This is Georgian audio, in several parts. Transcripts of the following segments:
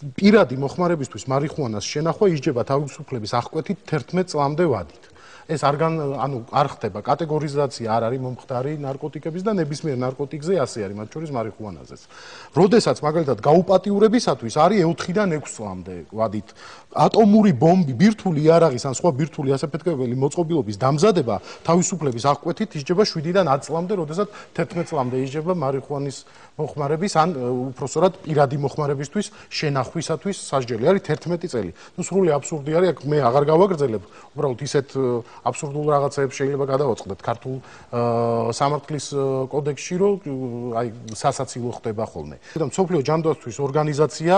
პირადი მოხმარებისთვის მარიხუანას შენახვა ისჯება თავისუფლების აღკვეთით 11 წლამდე ვადით. ეს არ ხდება კატეგორიზაცია არ არის მომხდარი ნარკოტიკების და ნებისმიერ ნარკოტიკზე ასე არის, მათ შორის მარიხუანაზეც. როდესაც მაგალითად გაუპატიურებისათვის არის 4-დან 6 წლამდე ვადით. ატომური ბომბი, ბირთვული იარაღის ან სხვა ბირთვული ასაფეთქებელი მოწყობილობის დამზადება თავისუფლების აღკვეთით ისჯება 7-დან 10 წლამდე, როდესაც 11 წლამდე ისჯება მარიხუანის მოხმარების ან უпроსორად პირადი მოხმარებისთვის შენახვისათვის სასჯელი არის 11 წელი. ნუ სრული აბსურდი არის, აქ მე აღარ გავაგრძელებ, უბრალოდ ისეთ აბსურდულ რაღაცებს შეიძლება გადავაწყდეთ ქართულ სამართლის კოდექსში, რომ აი სასაცილო ხდება ხოლმე. და მსოფლიო ჯანდაცვის ორგანიზაცია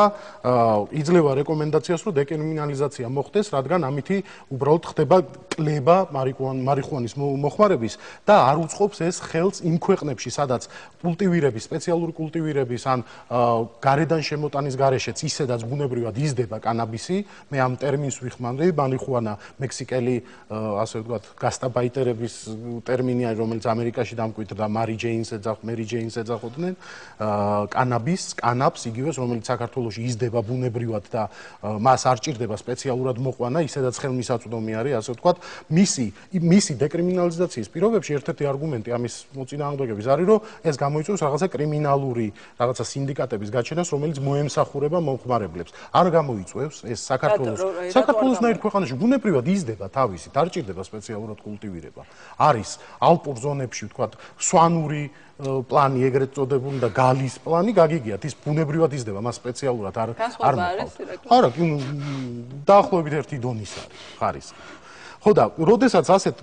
იძლევა რეკომენდაციას, რომ დეკრიმინალიზაცია მოხდეს, რადგან ამითი უბრალოდ ხდება კლება მარიხუანის მოხმარების და არ უწყობს ეს ხელს იმ ქვეყნებში, სადაც კულტივირების, სპეციალური კულტივირების ან გარედან შემოტანის გარეშეც ისედაც ბუნებრივად იზრდება კანაბისი. მე ამ ტერმინს ვიხმარი, მარიხუანა მექსიკელი ასე ვთქვათ, გასტაბაიტერების ტერმინი არის, რომელიც ამერიკაში დამკვიდრდა, მერი ჯეინს ეძახოდნენ, კანაპს, იგივეს, რომელიც საქართველოში იზრდება ბუნებრივად და მას არ ჭირდება სპეციალურად მოყვანა, ისედაც ხელმისაწვდომი არის, ასე ვთქვათ, მისი დეკრიმინალიზაციის პირობებში ერთ-ერთი არგუმენტი ამის მოწინააღმდეგების არის, რომ ეს გამოიწვევს რაღაცა კრიმინალური, რაღაცა სინდიკატების გაჩენას, რომელიც მოემსახურება მომხმარებლებს. არ გამოიწვევს ეს საქართველოსნაირ ქვეყანაში ბუნებრივად იზრდება თავისით, არ ჭირდება სპეციალურად კულტივირება. არის ალპურ ზონებში, ვთქვათ, სვანური პლანი ეგრეთ წოდებული და გალის პლანი გაგიგიათ, ის ბუნებრივად იზრდება, მას სპეციალურად არ მოყავს. არა, დაახლოებით ერთი დონის არის, ხარისხი. ხო და როდესაც ასეთ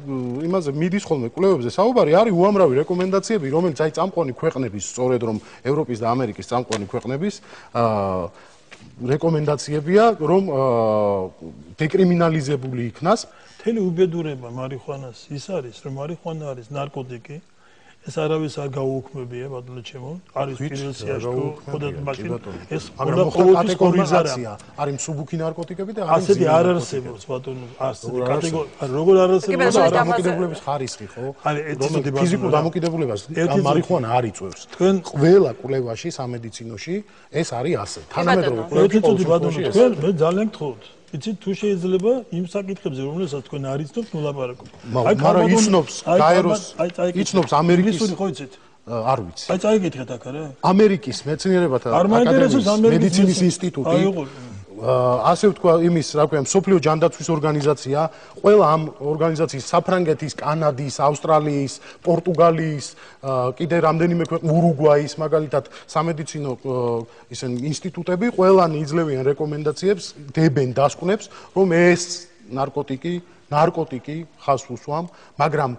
იმაზე მიდის ხოლმე კვლევებზე საუბარი, არის უამრავი რეკომენდაციები, რომელიც აი წამყვანი ქვეყნების, სწორედ რომ ევროპის და ამერიკის წამყვანი ქვეყნების რეკომენდაციებია, რომ დეკრიმინალიზებული იქნას. მთელი უბედურება მარიხუანას ის არის, რომ მარიხუანა არის ნარკოტიკი, ეს არავის არ გაუუქმებია, ბატონო ჩემო, არის პირველ სიაში, ხოდათ მაშინ ეს კატეგორიზაცია არის მსუბუქი ნარკოტიკები და არის ასეთი არ არსებობს, ბატონო, ასეთი კატეგორია, როგორ არ არსებობს დამოკიდებულების ხარისხი, ხო? ფიზიკურ დამოკიდებულებას მარიხუანა არ იწვევს. ყველა კვლევაში, სამედიცინოში ეს არის ასე. თანამედროვე კვლევებში თქვენ მე ძალიან გთხოვთ. იცით თუ შეიძლება იმ საკითხებზე რომელსაც თქვენ არ იცნობთ ნულაპარაკო. მაგრამ იცნობს გაეროს, იცნობს ამერიკის ხო იცით? არ ვიცი. აი წაიგეთქეთ აქ რა. ამერიკის მეცნიერებათა აკადემიის მედიცინის ინსტიტუტი. ასე ვთქვა იმის, რა ქვია, მსოფლიო ჯანდაცვის ორგანიზაცია, ყველა ამ ორგანიზაციის საფრანგეთის, კანადის, ავსტრალიის, პორტუგალიის, კიდე რამდენიმე ქვეყნის, ურუგვაის, მაგალითად, სამედიცინო ინსტიტუტები ყველანი იძლევიან რეკომენდაციებს, დებენ დასკვნებს, რომ ეს ნარკოტიკი ხაზს უსვამ, მაგრამ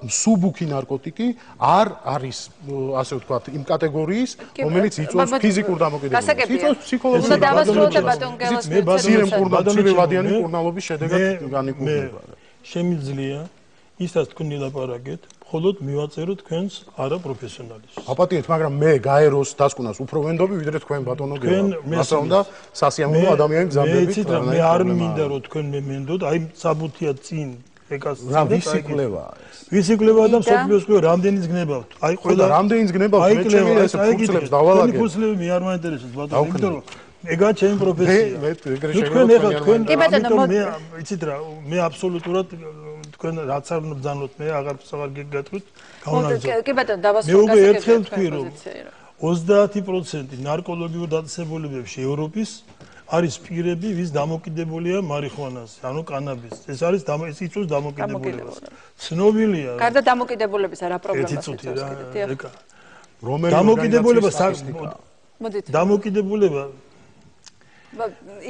მსუბუქი ნარკოტიკი არ არის, ასე ვთქვათ, იმ კატეგორიის, რომელიც იწვევს ფიზიკურ დამოკიდებულებას. იწვევს ფსიქოლოგიურ დამოკიდებულებას. მცირევადიანი მკურნალობის შედეგად განიკურნება. შემიძლია ისაც თქვენ ილაპარაკეთ, მხოლოდ მივაწეროთ თქვენს არაპროფესიონალისტს. აპატიეთ, მაგრამ მე გაეროს დასკვნას უფრო ვენდობი, ვიდრე თქვენ ბატონო გელა. მასა უნდა სასიამოვნო ადამიანი გზადებით. მე არ მინდა რომ თქვენ მე მენდოთ, აი საბუთია წინ ეკას რა ვისი კვლევაა ეს? ვისი კვლევაა და მსოფლიოს კვლევა რამდენიც გნებავთ? აი ყველა რამდენიც გნებავთ, მე ჩემი ეს ფურცლებს დავალაგებ. თქვენი ფურცლები მე არ მაინტერესებს ბატონო, იმიტომ რომ ეგაა ჩემი პროფესია. თქვენ მე იცით რა, მე აბსოლუტურად თქვენ რაც არ ბრძანოთ, მე აღარ გეკეთრით გაუნარჩუნოთ. კი ბატონო, დავასრულე. მე უკვე ერთხელ თქვი რომ 30% ნარკოლოგიურ დაწესებულებებში ევროპის არის პირები, ვის დამოკიდებულია მარიხუანაზე, ანუ კანაბისზე. ეს არის ის იწვევს დამოკიდებულებას. ცნობილია. გარდა დამოკიდებულების არა პრობლემას იწვევს კიდე. რომელი დამოკიდებულება დამოკიდებულება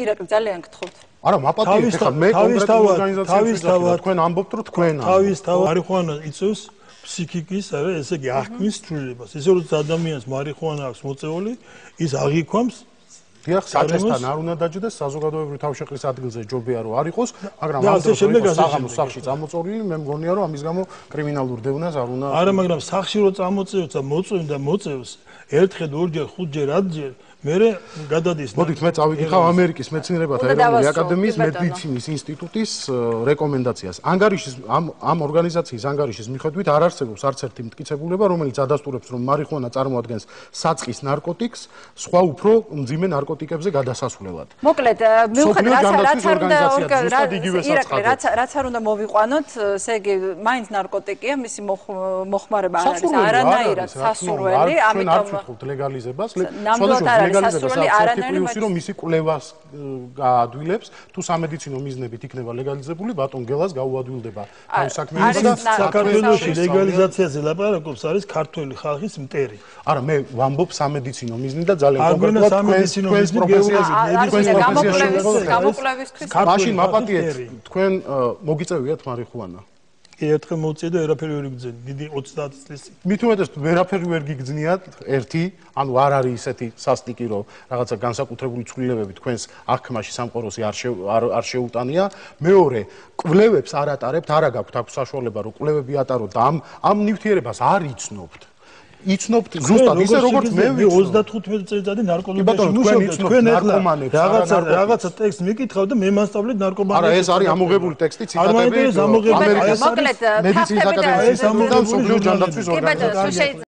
ირაკლი ძალიან გთხოვთ. არა, მაპატიეთ, ხა მე კონკრეტულ ორგანიზაციებს თქვენ ამბობთ, რომ თქვენ თავისთავად მარიხუანა იწვევს ფსიქიკის, არა, ესე იგი აღქმის ცვლილებას. ისე რომ ადამიანს მარიხუანა აქვს მოწეული, ის აღიქვამს დიახ, საჭესთან არ უნდა დაჯდეს, საზოგადოებრივი თავშეყრის ადგილზე ჯობია რომ არ იყოს, მაგრამ ამ დროს საღამოს სახლში წამოწოლილი, მე მგონია რომ ამის გამო კრიმინალურ დევნას არ უნდა. არა, მაგრამ სახლში რო წამოწევს და მოწევს და მოწევს, ერთხელ, ორჯერ, ხუთჯერ, 10ჯერ მერე გადადის. მოდით მე წავიკითხავ ამერიკის მეცნიერებათა ეროვნული აკადემიის მედიცინის ინსტიტუტის რეკომენდაციას. ანგარიშის ამ ორგანიზაციის ანგარიშის მიხედვით არ არსებობს არც ერთი მტკიცებულება, რომელიც ადასტურებს, რომ მარიხუანა წარმოადგენს საწყის ნარკოტიკს, სხვა უფრო მძიმე ნარკოტიკებზე გადასასვლელად. მოკლედ, რაც არ უნდა მოვიყვანოთ, ესე იგი, მაინც ნარკოტიკია, მისი მოხმარება არ არის არანაირად სასურველი, ამიტომ არ ვთქვით ლეგალიზებას, სხვადასხვა ლეგალიზებას არანაირად რომ მისი კვლევას გაადვილებს, თუ სამედიცინო მიზნებით იქნება ლეგალიზებული, ბატონ გელას გაუადვილდება თავის საქმეებსა და საქართველოში ლეგალიზაციაზე ლაპარაკობს არის ქართველი ხალხის მტერი. არა, მე ვამბობ სამედიცინო მიზნით და ძალიან კონკრეტულად თქვენს პროფესიაზე, გამოკვლევისთვის. მაშინ მაპატიეთ, თქვენ მოგიწევიათ მარიხუანა? ერთხელ მოვწიე და ვერაფერი ვერ გიგზნი, დიდი 30 წლის. მით უმეტეს ვერაფერი ვერ გიგზნიათ, ერთი, ანუ არ არის ისეთი სასტიკი, რომ რაღაცა განსაკუთრებული ცვლილებები თქვენს აღქმაში სამყაროსი არ შეუტანია. მეორე, კვლევებს არ ატარებთ, არა გაქვთ აქ საშუალება, რომ კვლევები ატაროთ და ამ ნივთიერებას არ იცნობთ. იცნობთ ზუსტად ისე როგორც მე ვიცნობ 35 წელიწადი ნარკოლოგიაში მუშაობდი თქვენ ეხლა რაღაცა ტექსტ მიკითხავ და მე მასწავლეთ ნარკომანია არა ეს არის ამოღებული ტექსტი ციტატები ამერიკის მოკლედ მედიცინის აკადემიის ინსტიტუტიდან სოფლიო ჯანდაცვის ორგანიზაციის